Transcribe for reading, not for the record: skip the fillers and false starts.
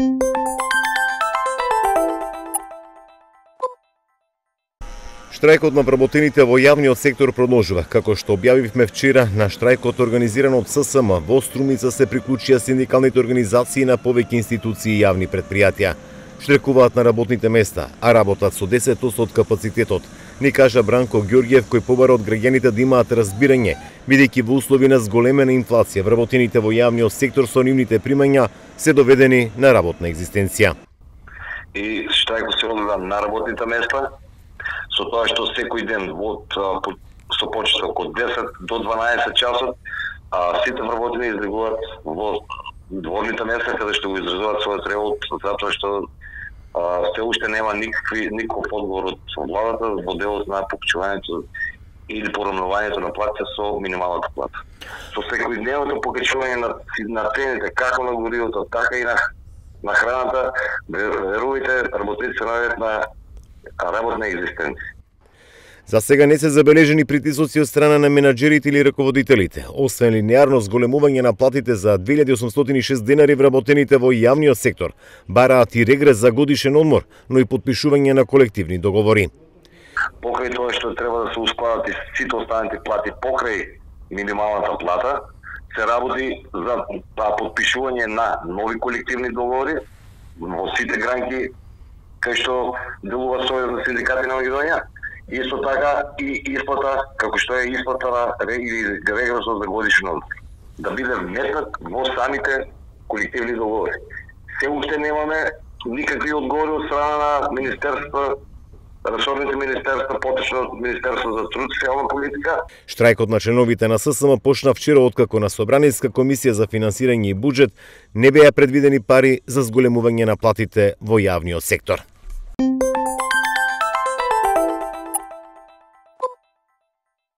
Штрајкот на вработените во јавниот сектор продолжува. Како што објавивме вчера, на штрајкот организиран од ССМ во Струмица се приклучија синдикалните организации на повеќе институции и јавни претпријатија. Штрекуваат на работните места, а работат со 10% од капацитетот, ни кажа Бранко Ѓорѓев, кој побара од граѓаните да имаат разбирање, бидејќи во услови на зголемена инфлација вработените во јавниот сектор со нивните примања се доведени на работна екзистенција. И штрајкот се огледа на работните места, со тоа што секој ден со почеток од 10 до 12 часот, сите вработени излегуваат во дворните места каде што го изразуваат својот револт, затоа што се уште нема никаков одговор од владата во делот на покачувањето или порамнувањето на платите со минималната плата. Со секојдневното покачување на цените, како на горивото, така и на храната, верувајте, работниците наоѓаат на работна екзистенција. За сега не се забележени притисоци од страна на менаџерите или раководителите. Освен линеарно зголемување на платите за 2806 денари, вработените во јавниот сектор бараат и регрес за годишен одмор, но и подпишување на колективни договори. Покрај тоа што треба да се ускладат и сите останати плати покрај минималната плата, се работи за подпишување на нови колективни договори во сите гранки кај што делува Сојуз на синдикати на Македонија. Исто така и исплата, како што е исплата на регресот за годишен одмор, да биде вметнат во самите колективни договори. Се уште немаме никакви одговори од страна на министерства, ресорните министерства, поточно Министерство за труд и социјална политика. Штрајкот на членовите на ССМ почна вчера откако на Собраниска комисија за финансирање и буџет не беа предвидени пари за зголемување на платите во јавниот сектор.